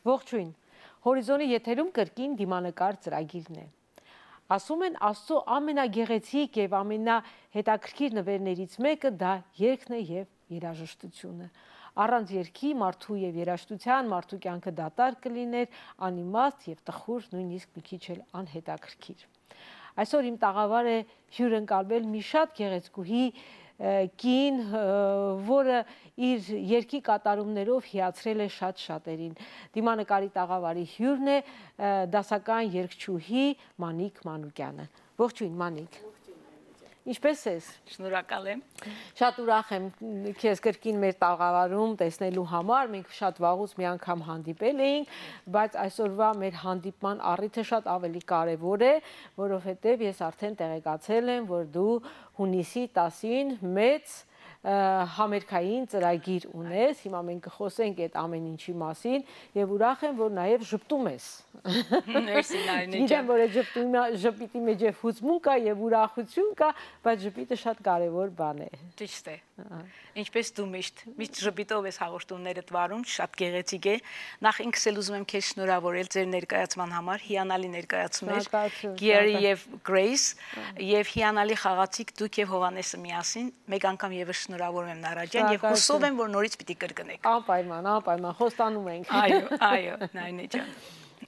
Ողջույն, հորիզոնի եթերում կրկին դիմանկար ծրագիրն է։ Ասում են Աստծո ամենագեղեցիկ և ամենահետաքրքիր նվերներից մեկը դա երգն է և երաժշտությունը։ Առանց երգի մարդու և երաժշտության մարդու կյանքը դատարկ կլիներ, անիմաստ և տխուր, նույնիսկ մի քիչ էլ անհետաքրքիր։ Այսօր իմ տաղավար է հյուրընկալվել մի շատ գեղեցկուհի կին, որը իր երգի կատարումներով հիացրել է շատ շատերին։ Դիմանկարի տաղավարի հյուրն է դասական երգչուհի Մանիկ Մանուկյանը։ Ողջույն, Մանիկ։ Ինչպես ես։ Շնորհակալ եմ։ Շատ ուրախ եմ քեզ կրկին մեր տաղավարում տեսնելու համար։ Մենք շատ վաղուց մի անգամ հանդիպել էինք, բայց այսօրվա մեր հանդիպման առիթը շատ ավելի կարևոր է, որովհետև ես արդեն տեղեկացել եմ, որ դու հունիսի 10-ին մեծ համերգային ծրագիր ունես, հիմա մենք կխոսենք այդ ամեն ինչի մասին և ուրախ եմ, որ նաև ժպտում ես։ Մերսի, Նարինե ջան։ Գիտեմ, որ այդ ժպիտի մեջ է հուզմունք կա և ուրախություն կա, բայց ժպիտը շատ կարևոր բան է։ Ճիշտ է։ Ինչպես դու միշտ ժպիտով ես հաղորդումներդ վարում, շատ գեղեցիկ է։ Նախ ինքս էլ ուզում եմ քեզ շնորհավորել ձեր ներկայացման համար, հիանալի ներկայացում էր Գերի և Գրեյս, և հիանալի խաղացիք դուք և Հովհաննեսը միասին, մեկ անգամ ևս շնորհավորում եմ Նարա ջան և հուսով եմ, որ նորից պիտի կրկնեք։ Անպայման, անպայման, խոստանում ենք։ Այո, Նարինե ջան։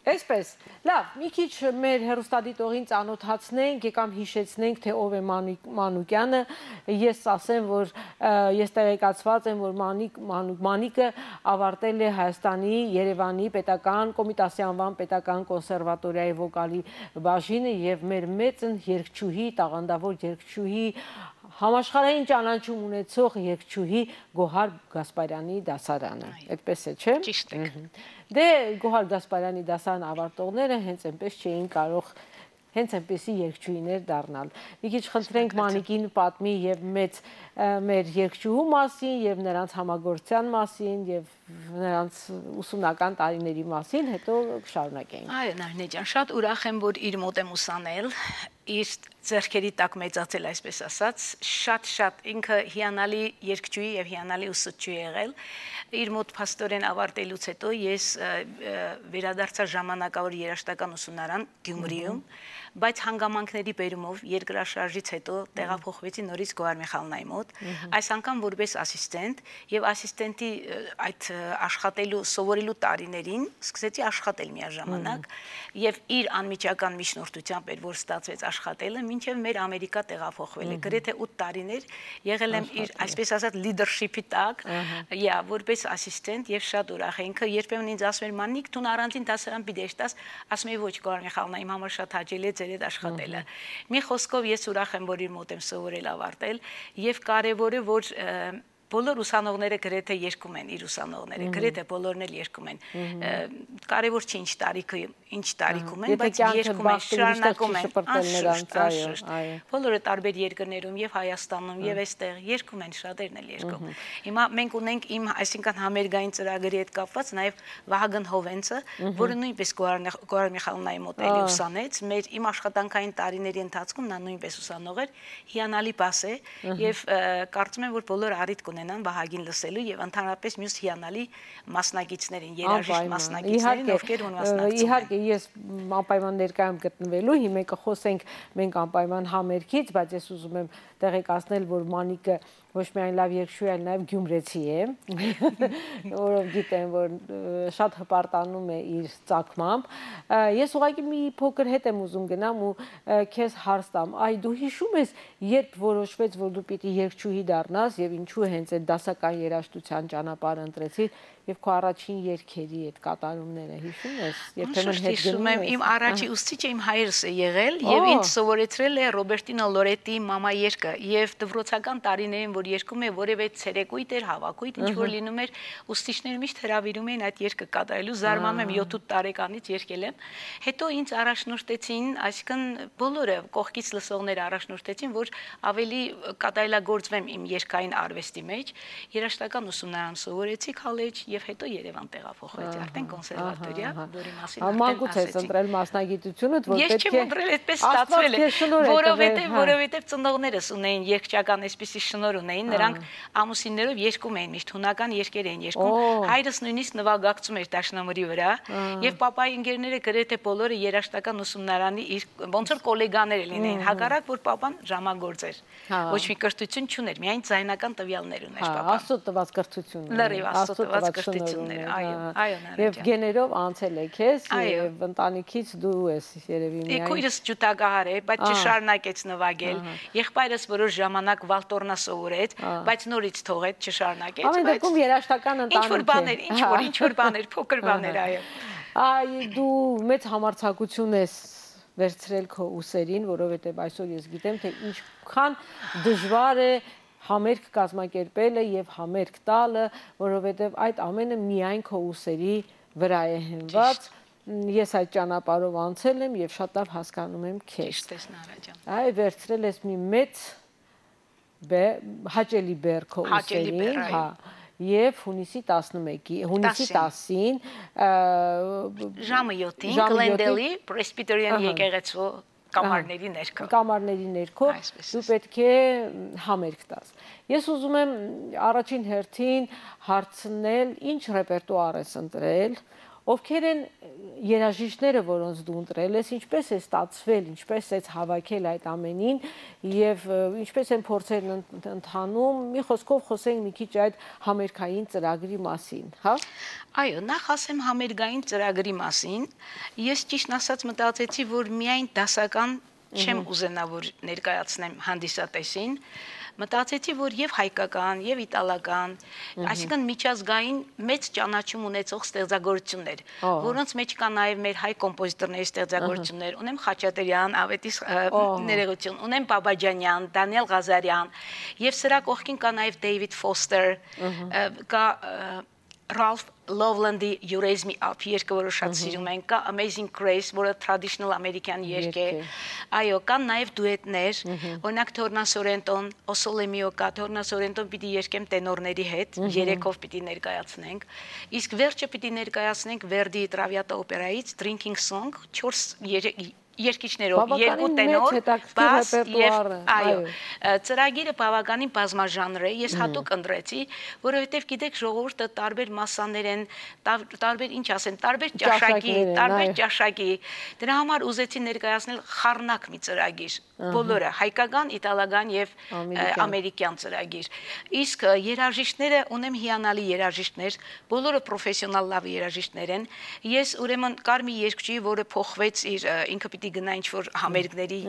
Այսպես, լավ, մի քիչ մեր հեռուստադիտողին ծանոթացնենք, եկամ հիշեցնենք, թե ով է Մանուկյանը, ես ասեմ, որ ես տեղեկացված եմ, որ Մանիկը ավարտել է Հայաստանի Երևանի պետական Կոմիտասի անվան պետական կոնսերվատորիայի վոկալի բաժինը և մեր մեծն երգչուհի, տաղանդավոր երգչուհի, համաշխարհային ճանաչում ունեցող երգչուհի Գոհար Գասպարյանի դասարանը, այդպես է, չէ՞։ Ճիշտ է։ Դե Գոհար Գասպարյանի դասարան ավարտողները հենց այնպես չէին կարող հենց այնպեսի երգչուհիներ դառնալ։ Մի քիչ խնդրենք Մանիկին պատմի և մեր երգչուհու մասին, և նրանց համագործության մասին, և նրանց ուսումնական տարիների մասին, հետո կշարունակենք։ Այո, Նարինե ջան, շատ ուրախ եմ, որ իր մոտ եմ ուսանել, իր ձեռքերի տակ մեծացել, այսպես ասած, շատ ինքը հիանալի երգչուհի և հիանալի ուսուցչուհի եղել։ Իր մոտ փաստորեն ավարտելուց հետո ես վերադարձա ժամանակավոր երաժշտական ուսումնարան Գյումրիում, բայց հանգամանքների բերումով երկրաշարժից հետո տեղափոխվեցի նորից Գոհար Միխայելնայի մոտ, այս անգամ որպես ասիստենտ, և ասիստենտի այդ աշխատելու, սովորելու տարիներին սկսեցի աշխատել միաժամանակ, և իր անմիջական միջնորդությամբ էր, որ ստացվեց աշխատելը, մինչև մեր Ամերիկա տեղափոխվել է, գրեթե 8 տարիներ եղել եմ իր, այսպես ասած, լիդերշիփի տակ, որպես ասիստենտ, և շատ ուրախ է։ Ինքը երբեմն ինձ ասում էր Մանիկ, դու առանձին դասարան պիտի երթաս, ասում էի ոչ, Գոհար Միխայելնա, իմ համար շատ հաճելի է ձեր հետ աշխատելը։ Մի խոսքով ես ուրախ եմ, որ իր մոտ եմ սովորել ավարտել, և կարևորը, որ բոլոր ուսանողները գրեթե երգում են, իր ուսանողները, գրեթե բոլորն էլ երգում են։ Կարևոր չի ինչ տարիքում են, բայց երգում են, շարունակում են, անշուշտ, բոլորը տարբեր երկրներում, և Հայաստանում, և այստեղ երգում են, շատերն էլ երգում։ Հիմա մենք ունենք իմ, այսինքն համերգային ծրագրի հետ կապված նաև Վահագն Հովենցը, որը նույնպես Գոհար Միխայելնայի մոտ էլի ուսանեց, իմ աշխատանքային տարիների ընթացքում նա նույնպես ուսանող էր, հիանալի բաս է, և կարծում եմ, որ բոլոր առիթ կունենան Վահագին լսելու և ընդհանրապես մյուս հիանալի մասնակիցներին, երաժիշտ մասնակիցներին, ովքեր մասնակցում են։ Իհարկե, ես անպայման ներկայ եմ գտնվելու, հիմա կխոսենք մենք անպայման համերգից, բայց ես ուզում եմ տեղեկացնել, որ Մանիկը ոչ միայն լավ երգչուհի, այլ նաև գյումրեցի է, որով գիտեմ, որ շատ հպարտանում է իր ծագմամբ։ Ես ուղղակի մի փոքր հետ եմ ուզում գնամ ու քեզ հարց տամ, դու հիշում ես, երբ որոշվեց, որ դու պիտի երգչուհի դառնաս և ինչու հենց այդ դասական երաժշտության ճանապարհը ընտրեցիր և քո առաջին երգերի այդ կատարումները հիշում ես, երբեմն հետ գնում ես։ Իմ առաջի ուսուցիչը իմ հայրս է եղել և ինձ սովորեցրել է Ռոբերտինո Լորետի Մամա երգը և դպրոցական տարիներին, որ երգում է որևէ ցերեկույթ էր, հավաքույթ, ինչ որ լինում էր, ուսուցիչները միշտ հրավիրում էին այդ երգը կատարելու, զարմանում եմ 7-8 տարեկանից երգել եմ։ Հետո ինձ առաջնորդեցին, այսինքն բոլորը կողքից լսողները առաջնորդեցին, որ ավելի կատարելագործվեմ իմ երգային արվեստի մեջ, երաժշտական ուսումնարան սովորեցի, քոլեջ և հետո Երևան տեղափոխվեցի, արդեն կոնսերվատորիա, որի մասին մանկուց ես ընտրել մասնագիտությունդ, որ ես չեմ ընտրել, այդպես ստացվել է, որովհետև ծնողներս ունեին երգչական այսպիսի շնորհ տղաներն էին, նրանք ամուսիններով երգում էին, միշտ հունական երգեր էին երգում։ Հայրս նույնիսկ նվագակցում էր դաշնամուրի վրա, եւ պապայի ընկերները գրեթե բոլորը երաժշտական ուսումնարանի իր ոնց որ գոլեգաներ լինեին, հակառակ որ պապան ժամագործ էր։ Ոչ մի կրթություն չուներ, միայն ձայնական տվյալներ ուներ պապան։ Աստծո տված կրթություններ։ Լրիվ Աստծո տված կրթություններ, այո, Եվ գեներով անցել եք ես, եւ ընտանիքից դու ես երևի միայն։ Քույրս ջութակահար է, բայց չշարունակեց նվագել։ Եղբայրս որոշ ժամանակ վալտորնա սովորեց, բայց նորից թողեց, չշարունակեց։ Ամեն դեպքում երաժշտական ընտանիք է։ Ինչ որ բաներ, փոքր բաներ, այո։ Այ դու մեծ համարձակություն ես վերցրել քո ուսերին, որովհետև այսօր ես գիտեմ, թե ինչքան դժվար է համերգ կազմակերպելը եւ համերգ տալը, որովհետեւ այդ ամենը միայն քո ուսերի վրա է հենված։ Ես այդ ճանապարհով անցել եմ եւ շատ լավ հասկանում եմ քեզ։ Ճիշտ ես Նարա ջան։ Այ վերցրել ես մի մեծ հաճելի բեռ քո ուսերին, հա, եւ հունիսի 11-ի, հունիսի 10-ին ժամը 7-ին Գլենդելի Պրեսբիթերիան եկեղեցու կամարների ներքո դու պետք է համերգ տաս։ Ես ուզում եմ առաջին հերթին հարցնել, ինչ ռեպերտուար ես ընտրել, ովքեր են երաժիշտները, որոնց դու ընտրել ես, ինչպես է ստացվել, ինչպես է հավաքել այդ ամենին եւ ինչպես են փորձերն ընթանում, մի խոսքով խոսենք մի քիչ այդ համերգային ծրագրի մասին, հա։ Այո, նախ ասեմ համերգային ծրագրի մասին, ես ճիշտ ասած մտածեցի, որ միայն դասական չեմ ուզենա որ ներկայացնեմ հանդիսատեսին, մտածեցի, որ եւ հայկական, եւ իտալական, այսինքն միջազգային մեծ ճանաչում ունեցող ստեղծագործություններ, որոնց մեջ կա նաեւ մեր հայ կոմպոզիտորների ստեղծագործություններ, ունեմ Խաչատրյան, Ավետիս ներողություն, ունեմ Բաբաջանյան, Դանիել Ղազարյան, եւ սրա կողքին կա նաեւ Դեյվիդ Ֆոստեր, կա Ralph Loveland-ի You Raise Me Up երգը, որը շատ սիրում են, կա Amazing Grace, որը traditional ամերիկյան երգ է, այո, կան նաև դուետներ, օրինակ Թորնա Սորենտոն, O Sole Mio կա, Թորնա Սորենտոն պիտի երգեմ տենորների հետ, երեքով պիտի ներկայացնենք, իսկ վերջը պիտի ներկայացնենք Verdi Traviata օպերայից Drinking Song, 4 երկիչներով, երկու տենոր, բաս եւ այո, ծրագիրը բավականին բազմաժանր է, ես հատուկ ընտրեցի, որովհետեւ գիտեք ժողովուրդը տարբեր մասաներ են, տարբեր ինչ ասեն, տարբեր ճաշակի, դրա համար ուզեցի ներկայացնել խառնակ մի ծրագիր, բոլորը հայկական, իտալական եւ ամերիկյան ծրագիր։ Իսկ երաժիշտները ունեմ հիանալի երաժիշտներ, բոլորը պրոֆեսիոնալ լավ երաժիշտներ են։ Ես ուրեմն կար մի երգչի, որը փոխվեց իր ինքը պիտի գնա ինչ-որ համերգների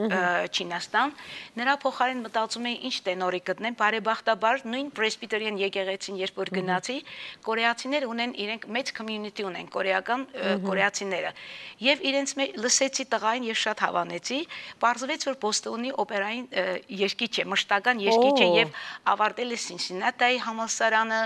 Չինաստան, նրա փոխարեն մտածում էի ինչ տենորի գտնեմ, բարեբախտաբար նույն Պրեսբիթերիան եկեղեցին երբ որ գնացի, կորեացիներ ունեն իրենք մեծ community ունեն, կորեական կորեացիները, եւ իրենց լսեցի տղային եւ շատ հավանեցի, պարզվեց որ Բոստոնի օպերային երգիչ է, մշտական երգիչ է եւ ավարտել է Սինսինատիի համալսարանը,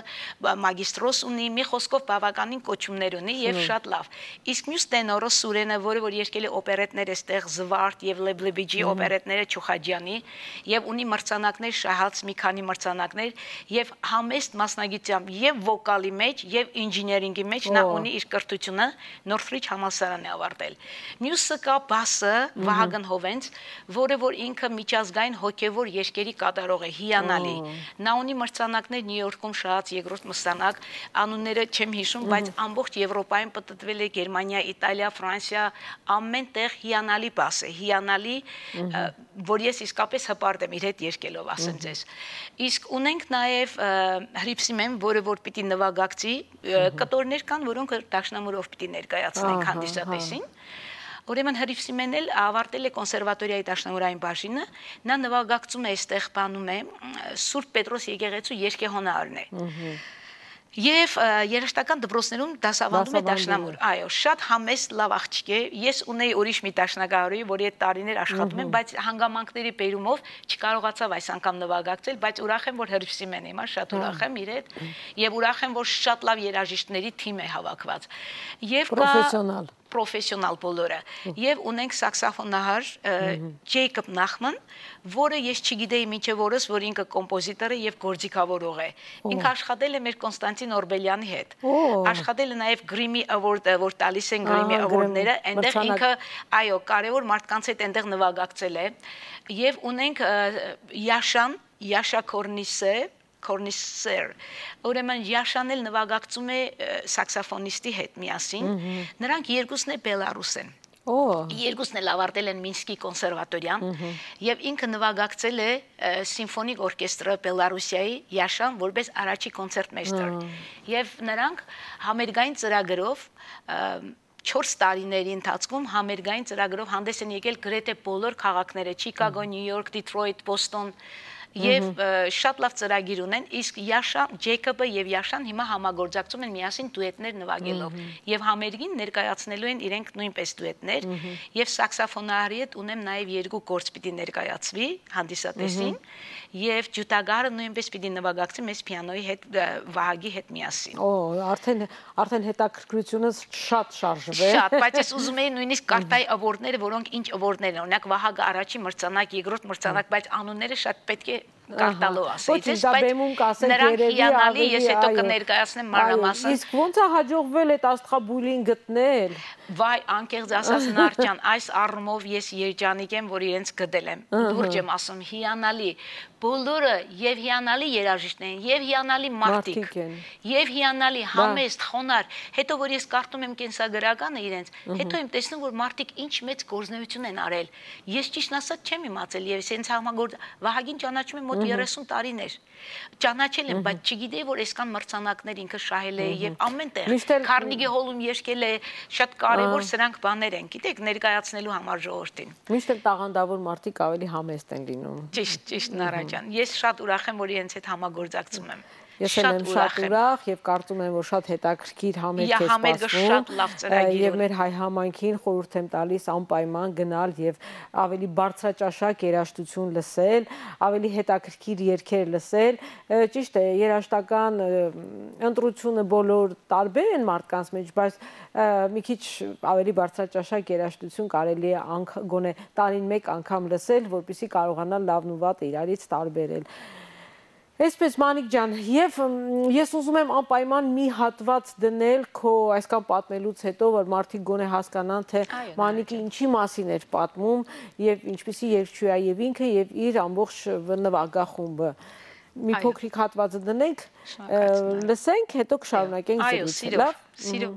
մագիստրոս ունի, մի խոսքով բավականին կոչումներ ունի եւ շատ լավ։ Իսկ մյուս տենորը Սուրենը, որը որ երգել է օպերետներ այստեղ Զվարթ եւ Լեբլեբիջի օպերետները Չուխաջյանի եւ ունի մրցանակներ շահած մի քանի մրցանակներ եւ համեստ մասնագիտությամբ եւ վոկալի մեջ եւ ինժեներինգի մեջ նա ունի իր կրթությունը Նորթրիջ համալսարանը ավարտել։ Մյուսը կա բասը Վահագն Հովենց, որը որ ինքը միջազգային հոգեվոր երգերի կատարող է, հիանալի։ Նա ունի մրցանակներ Նյու Յորքում շահած երկրորդ մրցանակ, անունները չեմ հիշում, բայց ամբողջ Եվրոպայում պատտվել է Գերմանիա, Իտալիա, Ֆրանսիա, ամեն տեղ հիանալի բաս է, հիանալի, որ ես իսկապես հպարտ եմ իր հետ երկելով, ասեմ ձեզ։ Իսկ ունենք նաև Հրիփսիմեն, որը որ պիտի նվագակցի, կտորներ կան, որոնք դաշնամուրով պիտի ներկայացնենք հանդիսատեսին։ Ուրեմն Հրիփսիմեն էլ ավարտել է կոնսերվատորիայի դաշնամուրային բաժինը, նա նվագակցում է այստեղ բանում է Սուրբ Պետրոս եկեղեցու երգեհոնարն է։ Եվ երաժշտական դպրոցներում դասավանդում է դաշնամուր, այո, շատ համեստ լավ աղջիկ է, ես ունեի ուրիշ մի դաշնակահարի, որի հետ տարիներ աշխատում եմ, բայց հանգամանքների բերումով չկարողացավ այս անգամ նվագակցել, բայց ուրախ եմ, որ Հրիփսիմեն եմ, շատ ուրախ եմ իր հետ, եւ ուրախ եմ, որ շատ լավ երաժիշտների թիմ է հավաքված։ Եվ պրոֆեսիոնալ բոլորը, եւ ունենք սաքսոֆոնահար Ջեյկոբ Նախման, որը ես չգիտեի մինչև օրս, որ ինքը կոմպոզիտոր է եւ գործիքավորող է։ Ինքը աշխատել է մեր Կոնստանտին Օրբելյանի հետ։ Աշխատել է նաեւ Grammy Award, որ տալիս են Grammy Award-ները, այնտեղ ինքը, այո, կարևոր մարդկանց հետ այնտեղ նվագակցել է։ Եվ ունենք Յաշան Յաշա Քորնիսեր, ուրեմն Յաշան էլ նվագակցում է սաքսոֆոնիստի հետ միասին, նրանք երկուսն է բելարուս են։ Երկուսն էլ ավարտել են Մինսկի կոնսերվատորիան եւ ինքը նվագակցել է սիմֆոնիկ օրկեստրը Բելարուսիայի Յաշան որպես առաջի կոնցերտմեյստեր եւ նրանք համերգային ծրագրով 4 տարիների ընթացքում համերգային ծրագրով հանդես են եկել գրեթե բոլոր քաղաքները՝ Չիկագո, Նյու Յորք, Դիթրոյթ, Բոստոն եւ շատ լավ ծրագիր ունեն, իսկ Ջեյքոբը եւ Յաշան հիմա համագործակցում են միասին դուետներ նվագելով եւ համերգին ներկայացնելու են իրենք նույնպես դուետներ եւ սաքսոֆոնարի հետ ունեմ նաեւ 2 գործ պիտի ներկայացվի հանդիսատեսին եւ ջութագարը նույնպես պիտի նվագակցի մեծ պիանոյի հետ Վահագի հետ միասին։ Արդեն հետաքրքրությունը շատ շարժվել։ Շատ, բայց ես ուզում եի նույնիսկ կարտայի ավորդները, որոնք ինչ ավորդներ են, օրինակ Վահագը առաջի մրցանակ, երկրորդ մրցանակ, բայց անունները շատ պետք է կարտալով ասեիցես, բայց նրանք հիանալի, ես հետո կներկայացնեմ մանրամասն։ Իսկ ոնց է հաջողվել այդ աստղաբույլին գտնել։ Վայ, անկեղծ ասած Նարճան, այս առումով ես երջանիկ եմ, որ իրենց գտել եմ։ Լուրջ եմ ասում, հիանալի, բոլորը եւ հիանալի երաժիշտներ են, եւ հիանալի մարդիկ, եւ հիանալի համեստ, խոնար։ Հետո որ ես կարդում եմ կենսագրականը իրենց, հետո եմ տեսնում, որ մարդիկ ինչ մեծ գործունեություն են արել։ Ես ճիշտ ասած չեմ իմացել եւ սենց համագործ Վահագին ճանաչում եմ մոտ 30 տարիներ։ Ճանաչել եմ, բայց չգիտեի, որ այսքան մրցանակներ ինքը շահել է եւ ամեն տեղ Քարնեգի հոլում երգել է, շատ կարևոր սրանք բաներ են, գիտեք, ներկայացնելու համար ժողովրդին։ Միշտ էլ տաղանդավոր մարդիկ ավելի համեստ են լինում։ Ճիշտ Նարաջան։ Ես շատ ուրախ եմ, որ իրենց հետ համագործակցում եմ։ Ես եմ շատ ուրախ եւ կարծում եմ, որ շատ հետաքրքիր համերգ է սպասվում եւ մեր հայ համայնքին խորհուրդ եմ տալիս անպայման գնալ եւ ավելի բարձրաճաշակ երաժշտություն լսել, ավելի հետաքրքիր երգեր լսել։ Ճիշտ է, երաժշտական ընտրությունը բոլոր տարբեր են մարդկանց մեջ, բայց մի քիչ ավելի բարձրաճաշակ երաժշտություն կարելի է գոնե տարին մեկ անգամ լսել, որպեսզի կարողանալ լավն ու վատը իրարից տարբերել։ Այսպես Մանիկ ջան, եւ ես ուզում եմ անպայման մի հատված դնել քո այսքան պատմելուց հետո, որ մարդիկ գոնե հասկանան, թե Մանիկը ինչի մասին էր պատմում եւ ինչպիսի երգչուհի է եւ ինքը եւ իր ամբողջ նվագախումբը։ Մի փոքրիկ հատվածը դնենք, լսենք, հետո կշարունակենք զրույցը, լավ։ Սիրով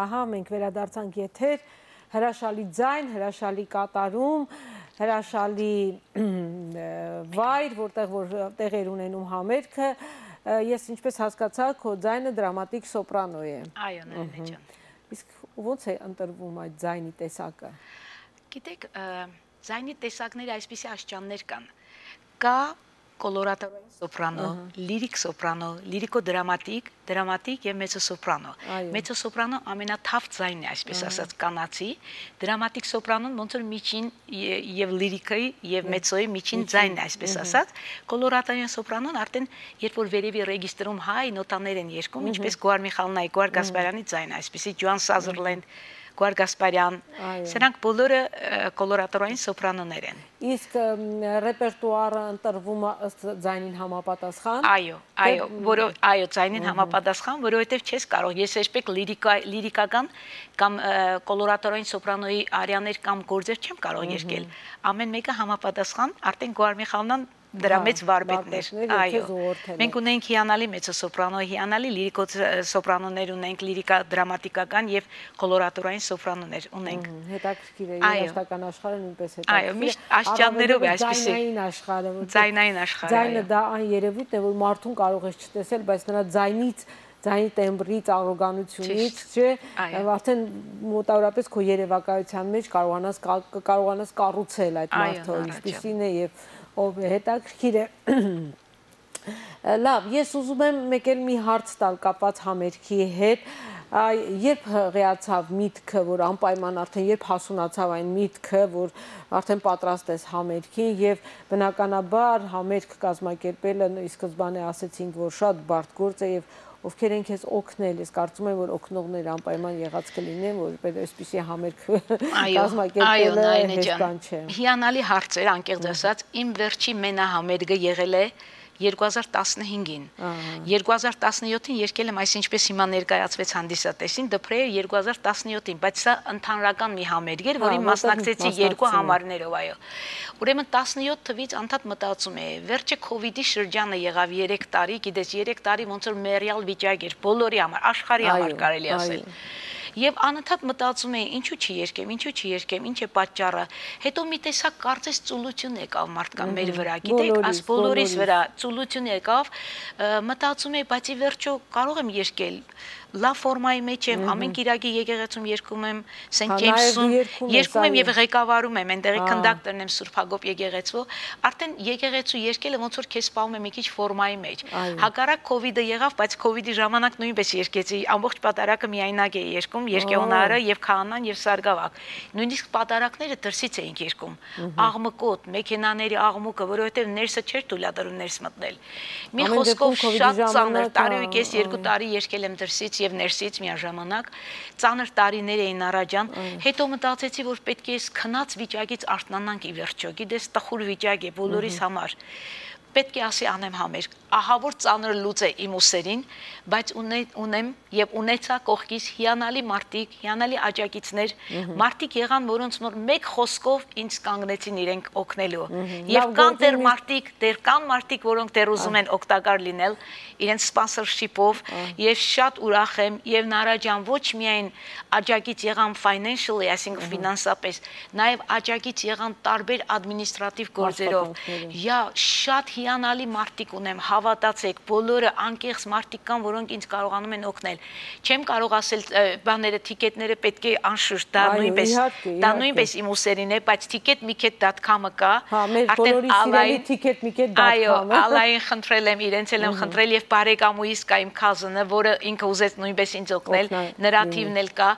Ահա, մենք վերադարձանք եթեր, հրաշալի ձայն, հրաշալի կատարում, հրաշալի վայր, որտեղ որ տեղեր ունենում համերգը, ես ինչպես հասկացա, քո ձայնը դրամատիկ սոպրանո է։ Այո, Նարինե ջան։ Իսկ ոնց է ընտրվում այդ ձայնի տեսակը։ Գիտեք, ձայնի տեսակները այսպիսի աշճաններ կան։ Կա կոլորատորային սոպրանո, լիրիկ սոպրանո, լիրիկո-դրամատիկ, դրամատիկ եւ մեծոսոպրանո։ Մեծոսոպրանո ամենաթավ ձայնն է, այսպես ասած, կանացի, դրամատիկ սոպրանոն ոնց որ միջին եւ լիրիկայի եւ մեծոյի միջին ձայնն է, այսպես ասած։ Կոլորատորային սոպրանոն արդեն երբ որ վերևի ռեգիստրում հայ նոտաներ են երգում, ինչպես Գոհար Միխայելնայի, Գոհար Գասպարյանի ձայնը, այսպեսի Ջոան Սազերլենդ, Գոհար Գասպարյան, սրանք բոլորը կոլորատորային սոպրանոներ են։ Իսկ ռեպերտուարը ընտրվում է ըստ ձայնին համապատասխան։ Այո, ձայնին համապատասխան, որովհետև չես կարող, ես երբեք լիրիկական կամ կոլորատորային սոպրանոյի արիաներ կամ գործեր չեմ կարող երգել։ Ամեն մեկը համապատասխան, արդեն Գոհար Միխայելնան դրա մեծ վարպետներ, այո։ Մենք ունենք հիանալի մեծոսոպրանո, հիանալի լիրիկո սոպրանոներ ունենք, լիրիկա դրամատիկական եւ կոլորատորային սոպրանոներ ունենք։ Հետաքրքիր է, երաժշտական աշխարհը նույնպես հետաքրքիր է։ Այո, միշտ աշճաններով է այսպեսի։ Ձայնային աշխարհը։ Ձայնային աշխարհը։ Ձայնը դա այն երևույթն է, որ մարդուն կարող ես չտեսել, բայց նրա ձայնի տեմբրից, առոգանությունից, չէ, արդեն մոտավորապես քո երևակայության մեջ կարողանաս կառուցել այդ մարդը, ինչպիսին է եւ ով է, հետաքրքիր է։ Լավ, ես ուզում եմ մեկ էլ մի հարց տալ կապված համերգի հետ, երբ հղիացավ միտքը, որ անպայման արդեն երբ հասունացավ այն միտքը, որ արդեն պատրաստ ես համերգին եւ բնականաբար համերգ կազմակերպելը ի սկզբանե ասեցինք, որ շատ բարդ գործ է եւ ովքեր են քեզ օգնել, ես կարծում եմ, որ օգնողները անպայման եղած կլինեն, որ այսպիսի համերգ կազմակերպելը հեշտ բան չէ։ Հիանալի հարց էր, անկեղծ ասած, իմ վերջի մենահամերգը եղել է 2015-ին։ 2017-ին երկել եմ, այս ինչպես հիմա ներկայացվեց հանդիսատեսին, դպրեյը 2017-ին, բայց սա ընդհանրական մի համերգ էր, որին մասնակցեցի 2 համարներով, այո։ Ուրեմն 17 թվից անդադ մտածում էի, վերջը COVID-ի շրջանը եղավ 3 տարի, գիտես 3 տարի ոնց որ մեռյալ վիճակ էր, բոլորի համար, աշխարհի համար կարելի ասել։ Եվ անընդհատ մտածում էի, ինչու չի երկեմ, ինչ է պատճառը։ Հետո մի տեսակ կարծես ծուլություն եկավ մարդկան մեր վրա, գիտեք, այս բոլորիս վրա ծուլություն եկավ, մտածում էի, բայց ի վերջո կարող եմ երկել։ Լավ ֆորմայի մեջ եմ, ամեն կիրակի եկեղեցում երգում եմ Սենթ Ջեյմսում, երգում եմ եւ ղեկավարում եմ, այնտեղի քնդակտորն եմ Սուրբ Հակոբ եկեղեցու, արդեն եկեղեցու երգելը ոնց որ քեզ սպառում է մի քիչ ֆորմայի մեջ։ Հակառակ COVID-ը եղավ, բայց COVID-ի ժամանակ նույնպես երգեցի, ամբողջ պատարակը միայնակ էի երգում, երկեոնարը եւ քահանան եւ Սարգսակ։ Նույնիսկ պատարակները դրսից էինք երգում, աղմկոտ, մեքենաների աղմուկը, որովհետեւ ներսը չէր թույլատրում ներս մտնել։ Մի խոսքով շատ ծանր, տարի ու կես 2 տարի երգել եմ դրսից եւ ներսից միաժամանակ, ծանր տարիներ էին առաջան, հետո մտածեցի, որ պետք է քնած վիճակից արթնանանք ի վերջո, գիտես, տխուր վիճակ է բոլորիս համար, պետք է ասի անեմ համերգ, ահա որ ծանր լուծ է իմ ուսերին, բայց ունեմ եւ ունեցա կողքից հիանալի մարդիկ, հիանալի աջակիցներ, մարդիկ եղան, որոնց մեկ խոսքով ինձ կանգնեցին իրենք օգնելու։ Եվ կան կան մարդիկ, որոնք դեռ ուզում են օգտակար լինել իրենց սպոնսորշիփով, եւ շատ ուրախ եմ, եւ Նարաջան ոչ միայն աջակից եղան financially, այսինքն ֆինանսապես, նաեւ աջակից եղան տարբեր ադմինիստրատիվ գործերով։ Շատ հիանալի մարդիկ ունեմ, հավատացեք, բոլորը անկեղծ մարդիկ կան, որոնք ինձ կարողանում են օգնել։ Չեմ կարող ասել բաները, թիկետները պետք է անշուշտ, դա նույնպես իմ ուսերին է, բայց ticket.com-ը կա, արդեն Ալային ticket.com-ը։ Այո, Ալային խնդրել եմ, իրենց էլ եմ խնդրել եւ բարեկամուհիս կա իմ cousin-ը, որը ինքը ուզեց նույնպես ինձ օգնել, նրա թիվն էլ կա,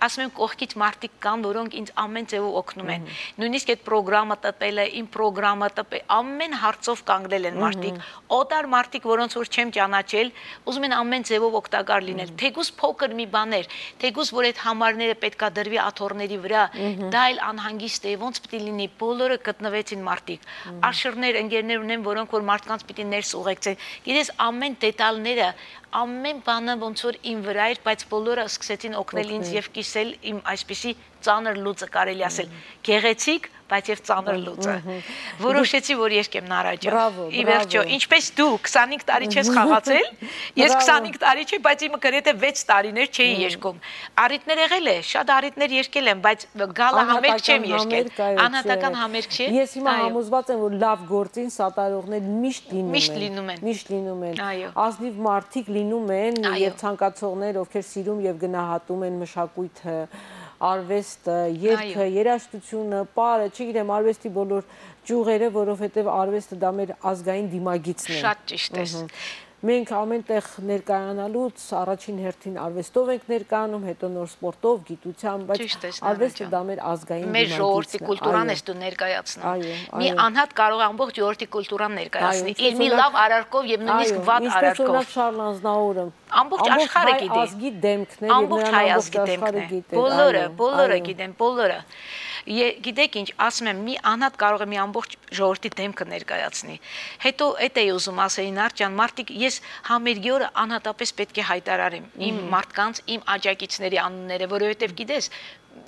ասում եմ կողքից մարդիկ կան, որոնք ինձ ամեն ձևով օգնում են։ Նույնիսկ այդ ծրագրամը տպելը, իմ ծրագրամը տպել, ամեն հարցով կանգնել են մարդիկ, օտար մարդիկ, որոնց որ չեմ ճանաչել, ուզում են ամեն ձևով օգտակար լինել։ Թեկուզ փոքր մի բաներ, թեկուզ որ այդ համարները պետքա դրվի աթոռների վրա, դա էլ անհանգիստ է, ոնց պիտի լինի, բոլորը գտնվեցին մարդիկ։ Աշրներ, ընկերներ ունեմ, որոնք որ մարդկանց պիտի ներս ուղեկցեն։ Գիտես, ամեն դետալները, ամեն բանը ոնց որ իմ վրա էր, բայց բոլորը սկսեցին օգնել ինձ եւ կիսել իմ այսպիսի ծանր լուծը կարելի ասել, գեղեցիկ, բայց եւ ծանր լուծը։ Որոշեցի, որ երկեմ Նարաջան։ Ի վերջո, ինչպես դու 25 տարի չես խաղացել, ես 25 տարի չի, բայց իմը գրեթե 6 տարիներ չէի երգում։ Առիթներ եղել է, շատ առիթներ երգել եմ, բայց գալը համերգ չեմ երգել։ Անհատական համերգ չէ։ Ես հիմա համոզված եմ, որ լավ գործին սատարողներ միշտ լինում են։ Միշտ լինում են։ Ազնիվ մարդիկ լինում են եւ ցանկացողներ, ովքեր սիրում եւ գնահատում են մշակույթը, արվեստը, երգը, երաժշտությունը, պարը, չգիտեմ, արվեստի բոլոր ճյուղերը, որովհետև արվեստը դա մեր ազգային դիմագիծն է։ Շատ ճիշտ է։ Մենք ամենտեղ ներկայանալուց առաջին հերթին արվեստով ենք ներկայանում, հետո նոր սպորտով, գիտությամբ, բայց արվեստը դա մեր ազգային մեր ժողովրդի կուլտուրան ես դու ներկայացնում։ Մի անհատ կարող է ամբողջ ժողովրդի կուլտուրան ներկայացնի, իր մի լավ արարքով եւ նույնիսկ վատ արարքով։ Ինչպես Շարլ Ազնավուրը ամբողջ աշխարհը գիտի։ Ազգի դեմքն է, ամբողջ հայ ազգի դեմքն է։ Բոլորը գիտեն, բոլորը։ Գիտեք ինչ, ասում եմ, մի անհատ կարող է մի ամբողջ ժողովրդի դեմքը ներկայացնի։ Հետո էդ էի ուզում ասեին Նարաջան, մարդիկ, ես համերգի օրը անհատապես պետք է հայտարարեմ իմ մարդկանց, իմ աջակիցների անունները, որովհետև գիտես,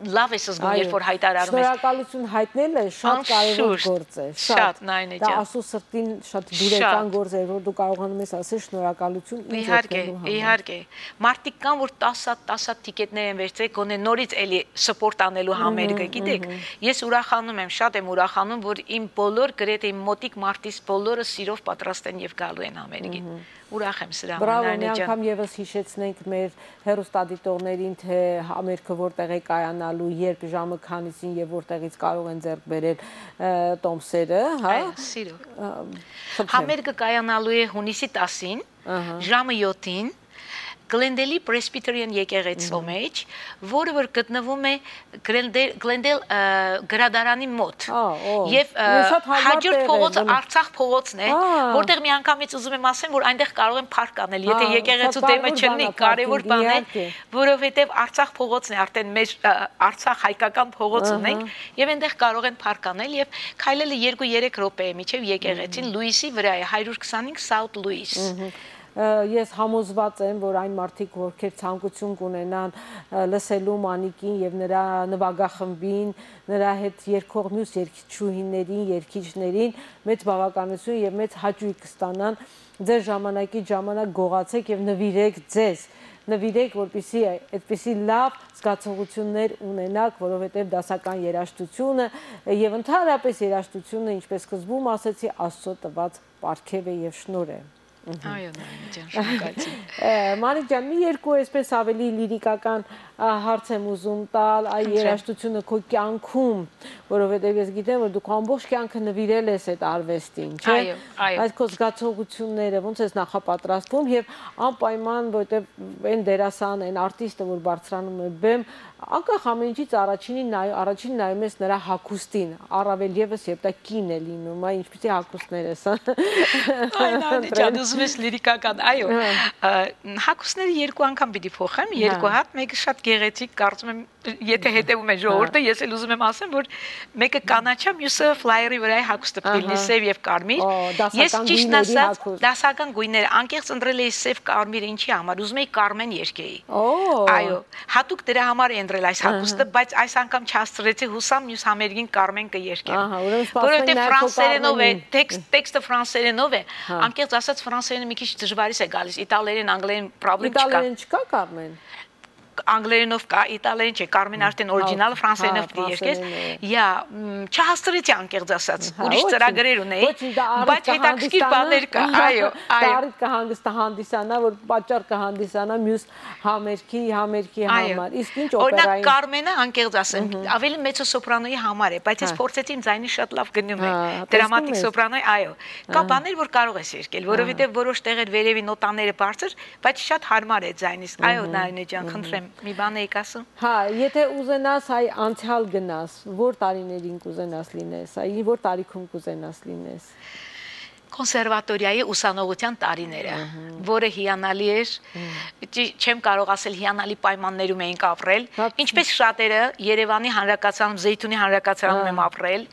լավ ես զգում, երբ որ հայտարարում ես։ Շնորհակալություն հայտնելը շատ կարևոր գործ է, շատ։ Դա ասու սրտին շատ դուրեկան գործ է, որ դու կարողանում ես ասել շնորհակալություն ինձ օգնելու համար։ Իհարկե։ Մարդիկ կան, որ 10 տիկետներ են վերցրել, գոնե նորից էլի սպորտ անելու համերգը, գիտեք։ Ես ուրախանում եմ, շատ եմ ուրախանում, որ իմ բոլոր գրեթե իմ մոտիկ մարդիս բոլորը սիրով պատրաստ են եւ գալու են համերգին։ Ուրախ եմ սրա համար։ Բրավո, մի անգամ եւս հիշեցնենք մեր հեռուստադիտողներին, թե համերգը որտեղ է կայանալու, երբ, ժամը քանիսին եւ որտեղից կարող են ձեռք բերել տոմսերը, հա։ Այո, սիրով։ Համերգը կայանալու է հունիսի 10-ին, ժամը 7-ին։ Գլենդելի Presbyterian եկեղեցու մեջ, որը որ գտնվում է Գլենդել գրադարանի մոտ։ Եվ հաջորդ փողոցը Արցախ փողոցն է, որտեղ մի անգամից ուզում եմ ասեմ, որ այնտեղ կարող են փառք անել, եթե եկեղեցու դեմը չլինի, կարևոր բան է, որովհետև Արցախ փողոցն է, արդեն մեր Արցախ հայկական փողոց ունենք, եւ այնտեղ կարող են փառք անել եւ քայլելը 2-3 րոպե է միջև եկեղեցին Լուիսի վրա է, 125 South Louis։ Ես համոզված եմ, որ այն մարդիկ, ովքեր ցանկություն կունենան լսելու Մանիկին եւ նրա նվագախմբին, նրա հետ երգող մյուս երգիչուհիներին, երգիչներին մեծ բավականություն եւ մեծ հաճույք կստանան, ձեր ժամանակից ժամանակ գողացեք եւ նվիրեք ձեզ, նվիրեք, որպեսզի այդպիսի լավ զգացողություններ ունենաք, որովհետեւ դասական երաժշտությունը եւ ընդհանրապես երաժշտությունը, ինչպես սկզբում ասեցի, Աստծո տված պարգև է եւ շնորհ է։ Այո, Նարաջան, շնորհակալություն։ Մանիկ ջան, մի երկու այսպես ավելի լիրիկական հարց եմ ուզում տալ, այ երաժշտությունը քո կյանքում, որովհետև ես գիտեմ, որ դու քո ամբողջ կյանքը նվիրել ես այդ արվեստին, չէ՞։ Այո։ Այդ քո զգացողությունները ոնց ես նախապատրաստվում եւ անպայման, որովհետև այն դերասան, այն արտիստը, որ բարձրանում է բեմ, անկախ ամեն ինչից առաջին նայում ես նրա հագուստին, առավել եւս երբ դա կին է լինում, այ ինչպեսի հագուստներ ես, Նարաջան, ուզում ես լիրիկական, այո, հագուստները երկու անգամ պիտի փոխեմ, երկու հատ, մեկը շատ գեղեցիկ, կարծում եմ, եթե հետևում է ժողովուրդը, ես էլ ուզում եմ ասեմ, որ մեկը կանաչա, մյուսը ֆլայերի վրայի հագուստը պիտի լինի սև եւ կարմիր։ Ես ճիշտն ասած, դասական գույներ, անկեղծ ընտրել էի սև կարմիր, ինչի համար, ուզում էի կարմեն երգեի։ Այո, հատուկ դրա համար է ընտրել այս հագուստը, բայց այս անգամ չհասցրեցի, հուսամ մյուս համերգին կարմեն կերկեմ։ Որովհետեւ ֆրանսերենով է, տեքստը ֆրանսերենով է, անկեղծ ասած ֆրանսերենը մի քիչ դժվարից է գալիս, իտալերեն, անգլերեն պրոբլեմ չկա։ Իտալերեն չկա կարմեն։ Անգլերենով կա, իտալերեն չէ, կարմեն արդեն օրիջինալը ֆրանսերենով պիտի երգես։ Յա, չհասցրեցի անկեղծ ասած, ուրիշ ծրագրեր ունեի, բայց հետաքրքիր բաներ կա, այո, այո։ Կհանգստահանդիսանա, որ պատճառ կհանդիսանա մյուս համերգի համար։ Իսկ ինչ օպերային։ Օրինակ Կարմենը անկեղծ ասեմ, ավելի մեծո սոպրանոյի համար է, բայց ես փորձեցի իմ ձայնի շատ լավ գնում է։ Դրամատիկ սոպրանոյ, այո։ Կա բաներ, որ կարող ես երգել, որովհետև որոշ տեղեր վերևի նոտաները բարձր, բայց շատ հարմար է ձայնից։ Այո, Նարինե ջան, խնդրեմ, մի բան եք ասում։ Հա, եթե ուզենաս այ անցյալ գնաս, որ տարիներին կուզենաս լինես, այ որ տարիքում կուզենաս լինես։ Կոնսերվատորիայի ուսանողության տարիները, որը հիանալի էր, չեմ կարող ասել հիանալի պայմաններում էինք ապրել, ինչպես շատերը Երևանի հանրակացարանում, Զեյթունի հանրակացարանում եմ ապրել,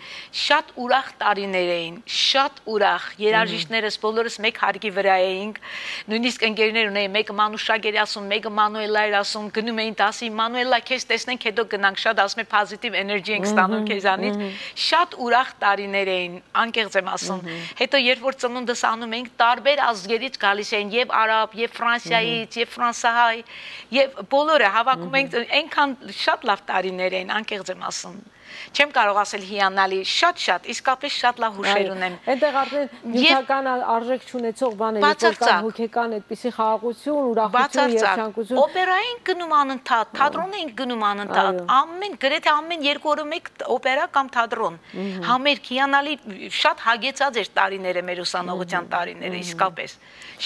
շատ ուրախ տարիներ էին, շատ ուրախ, երաժիշտներս բոլորս մեկ հարկի վրա էինք, նույնիսկ ընկերներ ունեին, մեկը Մանուշակ էր ասում, մեկը Մանուելա էր ասում, գնում էին ասի Մանուելա, քեզ տեսնենք, հետո գնանք, շատ ասում է պոզիտիվ էներգի ենք ստանում քեզանից, շատ ուրախ տարիներ էին, անկեղծ եմ ասում, հետո երբ որ ծնունդս անում էինք, տարբեր ազգերից գալիս էին, եւ արաբ, եւ Ֆրանսիայից, եւ ֆրանսահայ, եւ բոլորը հավաքում ենք, այնքան շատ լավ տարիներ էին, անկեղծ եմ ասում։ Չեմ կարող ասել հիանալի, շատ, իսկապես շատ լավ հուշեր ունեմ։ Այնտեղ արդեն նյութական արժեք չունեցող բաներ, որ կան հոգեկան այդպիսի խաղաղություն, ուրախություն, երջանկություն։ Օպերային գնում անընդհատ, թատրոն էինք գնում անընդհատ, գրեթե ամեն 2 օրը մեկ օպերա կամ թատրոն։ Համերգ, հիանալի, շատ հագեցած էր տարիները, մեր ուսանողության տարիները, իսկապես։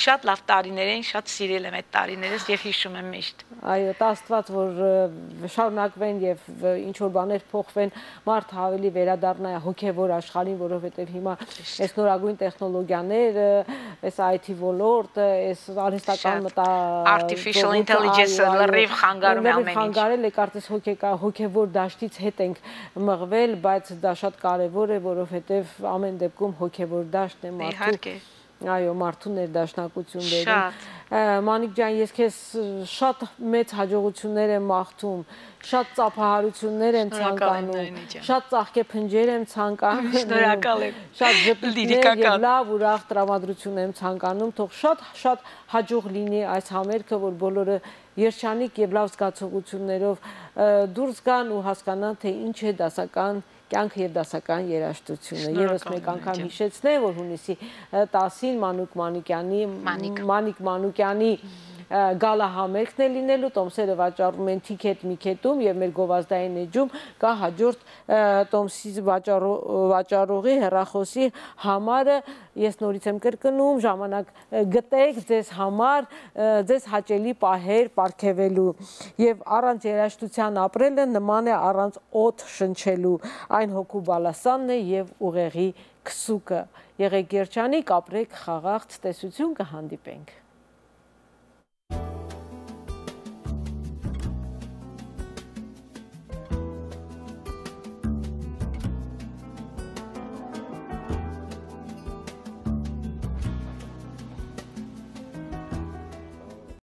Շատ լավ տարիներ էին, շատ սիրել եմ այդ տարիներս եւ հիշում եմ միշտ։ Այո, Աստված, որ շարունակվեն եւ ինչ որ բաներ փոխվեն, մարդը ավելի վերադառնա հոգեվոր աշխարհին, որովհետեւ հիմա այս նորագույն տեխնոլոգիաները, այս IT ոլորտը, այս արհեստական artificial intelligence-ը լրիվ խանգարում է ամեն ինչ։ Խանգարել է, կարծես հոգեվոր դաշտից հետ ենք մղվել, բայց դա շատ կարեւոր է, որովհետեւ ամեն դեպքում հոգեվոր դաշտն է մարդու։ Իհարկե։ Այո, մարդու ներդաշնակություններին։ Մանիկ ջան, ես քեզ շատ մեծ հաջողություններ եմ մաղթում, շատ ծափահարություններ եմ ցանկանում, շատ ծաղկեփնջեր եմ ցանկանում։ Շնորհակալ եմ։ Շատ ժպիտներ եւ լավ ուրախ տրամադրություն եմ ցանկանում, թող շատ հաջող լինի այս համերգը, որ բոլորը երջանիկ եւ լավ զգացողություններով դուրս գան ու հասկանան, թե ինչ է դասական կյանքը եւ դասական երաժշտությունը։ Եվս մեկ անգամ հիշեցնեմ, որ հունիսի 10-ին Մանիկ Մանուկյանի գալահամերգն է լինելու, տոմսերը վաճառում են Ticket.me-ում եւ մեր գովազդային էջում կա հաջորդ տոմսի վաճառողի հեռախոսի համարը, ես նորից եմ կրկնում, ժամանակ գտեք ձեզ համար, ձեզ հաճելի պահեր պարգևելու եւ առանց երաժշտության ապրելը նման է առանց օդ շնչելու, այն հոգու բալասանն է եւ ուղեղի քսուկը։ Եղեք երջանիկ, ապրեք խաղաղ, ցտեսություն, կհանդիպենք։